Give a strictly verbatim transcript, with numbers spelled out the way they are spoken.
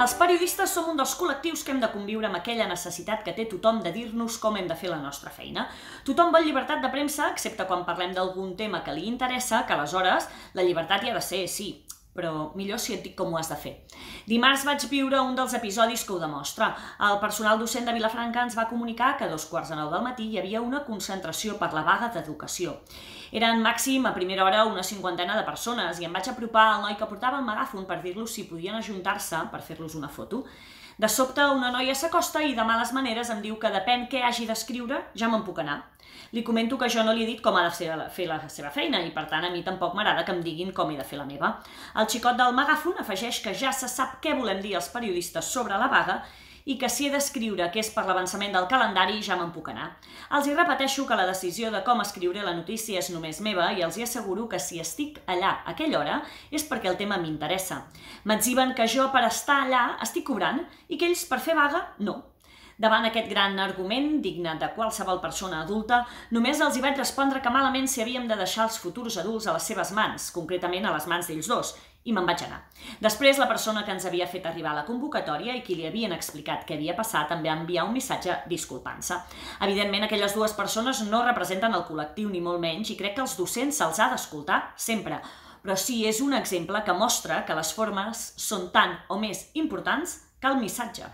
Els periodistes som un dels col·lectius que hem de conviure amb aquella necessitat que té tothom de dir-nos com hem de fer la nostra feina. Tothom vol llibertat de premsa, excepte quan parlem d'algun tema que li interessa, que aleshores la llibertat hi ha de ser, sí, però millor si et dic com ho has de fer. Dimarts vaig viure un dels episodis que ho demostra. El personal docent de Vilafranca ens va comunicar que a dos quarts de nou del matí hi havia una concentració per la vaga d'educació. Eren màxim a primera hora una cinquantena de persones i em vaig apropar al noi que portava el megàfon per dir-los si podien ajuntar-se per fer-los una foto. De sobte, una noia s'acosta i de males maneres em diu que depèn què hagi d'escriure, ja me'n puc anar. Li comento que jo no li he dit com ha de fer la seva feina i, per tant, a mi tampoc m'agrada que em diguin com he de fer la meva. El xicot del megàfon afegeix que ja se sap què volem dir els periodistes sobre la vaga i que si he d'escriure que és per l'avançament del calendari ja me'n puc anar. Els hi repeteixo que la decisió de com escriure la notícia és només meva i els hi asseguro que si estic allà a aquella hora és perquè el tema m'interessa. M'etziben que jo per estar allà estic cobrant i que ells per fer vaga no. Davant aquest gran argument, digne de qualsevol persona adulta, només els hi vaig respondre que malament si havíem de deixar els futurs adults a les seves mans, concretament a les mans d'ells dos, i me'n vaig anar. Després, la persona que ens havia fet arribar la convocatòria i qui li havien explicat què havia passat també va enviar un missatge disculpant-se. Evidentment, aquelles dues persones no representen el col·lectiu ni molt menys i crec que els docents se'ls ha d'escoltar sempre, però sí és un exemple que mostra que les formes són tan o més importants que el missatge.